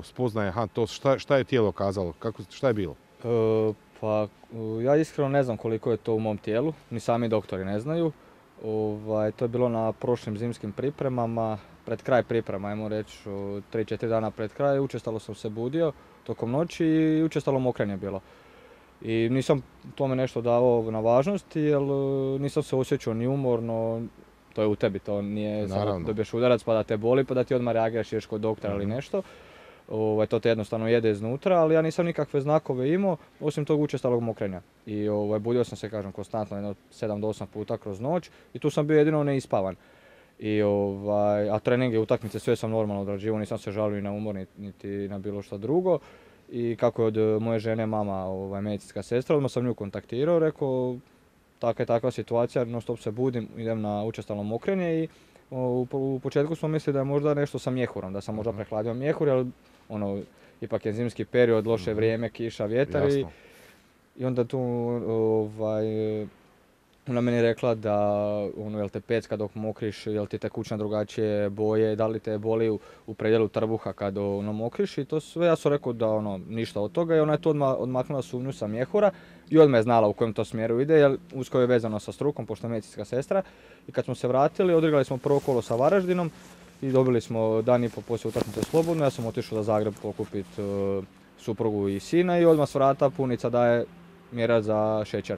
spoznaje, aha, to šta je tijelo kazalo, šta je bilo? Pa ja iskreno ne znam koliko je to u mom tijelu, ni sami doktori ne znaju. To je bilo na prošlim zimskim pripremama, pred kraj priprema, ajmo reći 3-4 dana pred kraj, učestalo sam se budio tokom noći i učestalo mokrenje bilo. I nisam tome nešto davao na važnosti, jer nisam se osjećao ni umorno, to je u tebi, to nije samo dobiješ udarac pa da te boli pa da ti odmah reagiraš, ideš kod doktora ili nešto. To te jednostavno jede iznutra, ali ja nisam nikakve znakove imao, osim tog učestalog mokrenja. I budio sam se, kažem, konstantno, 7 do 8 puta kroz noć i tu sam bio jedino neispavan. A treninge, utakmice, sve sam normalno odrađivao, nisam se žalio ni na umor, niti na bilo što drugo. I kako je od moje žene mama medicinska sestra, odmah sam nju kontaktirao, rekao takva situacija, non stop se budim, idem na učestalo mokrenje i u početku smo mislili da je možda nešto sa mjehurom, da sam možda prehladio mjehur, jer ipak je zimski period, loše vrijeme, kiša, vjetar i onda tu ona meni rekla da jel te pecka dok mokriš, jel ti tekućina drugačije boje, da li te boli u predjelu trbuha kad mokriš i to sve. Ja sam rekao da ništa od toga i ona je tu odmaknula sumnju sa mjehura i odmah je znala u kojem to smjeru ide, jer usko je vezano sa strukom, pošto je medicinska sestra. I kad smo se vratili, odigrali smo prvo kolo sa Varaždinom i dobili smo dan i po poslije utakmice slobodno. Ja sam otišao za Zagreb pokupiti suprugu i sina i odmah s vrata punica daje mjera za šećer.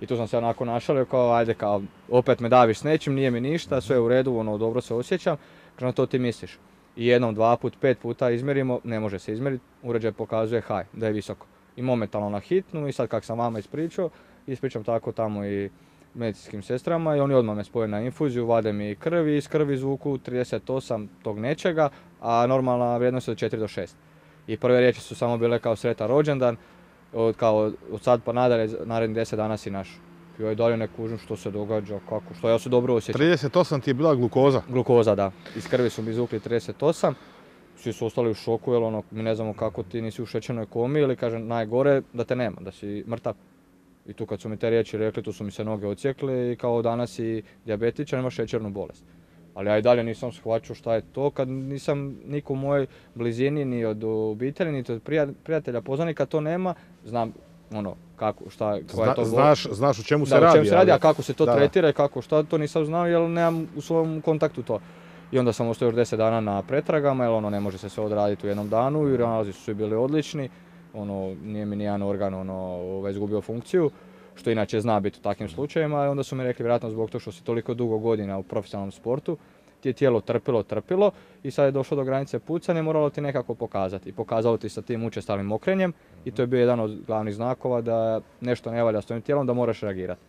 I tu sam se onako našalio kao, ajde kao, opet me daviš s nečim, nije mi ništa, sve je u redu, dobro se osjećam. Kažem, to ti misliš. I jednom, 2 put, 5 puta izmjerimo, ne može se izmjeriti, uređaj pokazuje haj, da je visoko. I momentalno na hitnu i sad kak sam vama ispričam tako tamo i medicinskim sestrama i oni odmah me spoje na infuziju, vade mi krv i iz krvi zvuku 38 tog nečega, a normalna vrijednost je od 4 do 6. I prve riječi su samo bile kao sretan rođendan, od sad pa nadalje, narednih 10 dana si naš. I dalje ne kužim što se događa, kako, što ja se dobro osjećam. 38 ti je bila glukoza? Glukoza, da. Iz krvi su mi izvukli 38. Svi su ostali u šoku, jer mi ne znamo kako ti nisi u šećernoj komi ili kažem najgore da te nema, da si mrtav. I tu kad su mi te riječi rekli, tu su mi se noge odsjekle i kao danas si dijabetičan, imaš šećernu bolest. Ali ja i dalje nisam shvaćao šta je to, kad nisam niko u mojoj blizini, ni od obitelji, ni od prijatelja, poznanika to nema, znam kako, koja je to bolest. Znaš o čemu se radi. O čemu se radi, a kako se to tretira i kako šta, to nisam znao jer nemam u svom kontaktu to. I onda sam ostao još 10 dana na pretragama, jer ne može se sve odraditi u jednom danu i nalazi su bili odlični. Nije mi nijedan organ izgubio funkciju, što inače zna biti u takvim slučajevima. I onda su mi rekli, vjerojatno zbog toga što si toliko dugo godina u profesionalnom sportu, ti je tijelo trpilo i sad je došlo do granice pucanja i moralo ti nekako pokazati. I pokazalo ti sa tim učestalim mokrenjem i to je bio jedan od glavnih znakova da nešto ne valja s tvojim tijelom, da moraš reagirati.